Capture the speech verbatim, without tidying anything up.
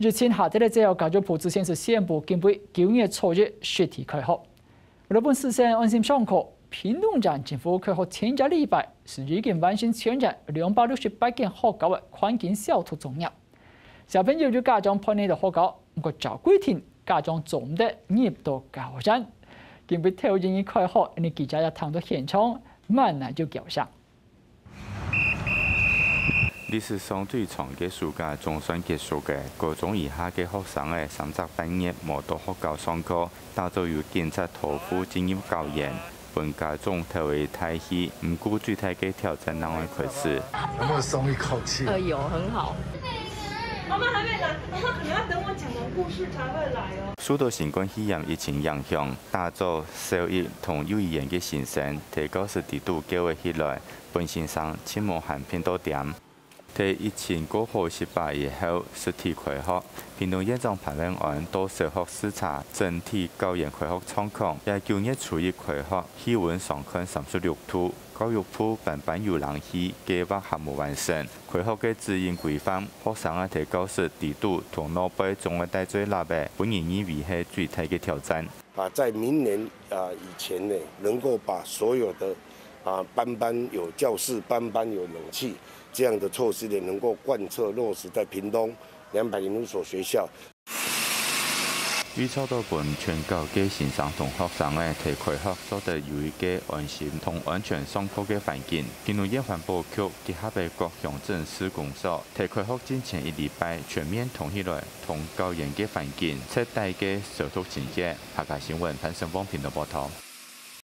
疫情下跌个之後，教育部之前係宣布，今晡九月初一實體開學。為了分師生安心上課，屏東縣政府開學前一禮拜係已經完成全縣兩百六十八間學校个環境消毒作業。小朋友有家長陪佢到學校，毋過照規定，家長做毋得入到校園。今晡頭一日開學，𫣆俚記者也探到現場，滿哪有叫聲。 歷史上最長个暑假總算結束个，高中以下个學生仔三隻半月無到學校上課，打早由警察拖赴進入校園，分家長頭仔大喜。毋過最大个挑戰正會開始。有沒有鬆一口氣？呃，有，很好。媽媽還沒來，媽媽可能要等我講完故事才會來哦。受到新冠肺炎疫情影響，打早小一同幼兒園个先生在教室裡肚噭仔起來， 分先生盡無閒拚到點。在疫情過好息把以後，實體開學，屏東縣長潘文安到小學視察整體校園開學狀況。也九月初一開學，氣溫上看三十六度，教育部班班有冷氣，計畫還無完成。開學个指引規範，學生仔在教室裡肚同外背總愛戴嘴lap仔，分人認為係最大个挑戰。 啊，在明年，啊，以前呢，能夠把所有的，啊，班班有教室、班班有冷氣這樣的措施呢，能夠貫徹落實在屏東兩百零五所學校。為做到分全校个先生同學生仔在開學做得有一個安心同安全上課个環境，屏東縣環保局結合个各鄉鎮市公所，在開學進前一禮拜全面通起來，同校園个環境徹底个消毒清潔。 客家新聞潘勝旺屏東報導。